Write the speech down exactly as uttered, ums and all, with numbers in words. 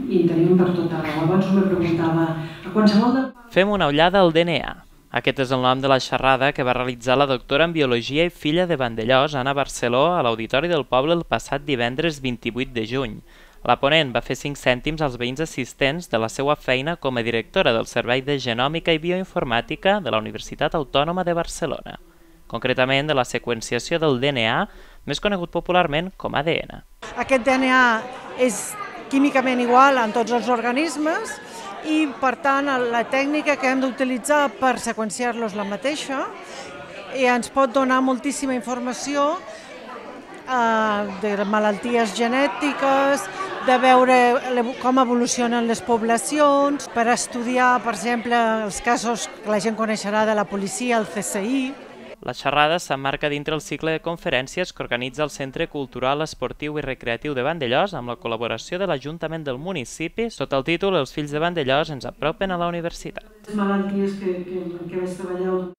i en tenim per tot arreu. Abans me preguntava a qualsevol de... Fem una ullada al D N A. Aquest és el nom de la xerrada que va realitzar la doctora en Biologia i filla de Vandellòs, Anna Barceló, a l'Auditori del Poble el passat divendres vint-i-vuit de juny. La ponent va fer cinc cèntims als veïns assistents de la seva feina com a directora del Servei de Genòmica i Bioinformàtica de la Universitat Autònoma de Barcelona, concretament de la seqüenciació del D N A, més conegut popularment com A D N. Aquest D N A és químicament igual en tots els organismes i, per tant, la tècnica que hem d'utilitzar per seqüenciar-los la mateixa i ens pot donar moltíssima informació eh, de malalties genètiques, de veure com evolucionen les poblacions, per estudiar, per exemple, els casos que la gent coneixerà de la policia, el C S I. La xerrada s'emmarca dintre el cicle de conferències que organitza el Centre Cultural, Esportiu i Recreatiu de Vandellòs amb la col·laboració de l'Ajuntament del municipi sota el títol Els fills de Vandellòs ens apropen a la universitat. Les malalties que, que, que vaig treballar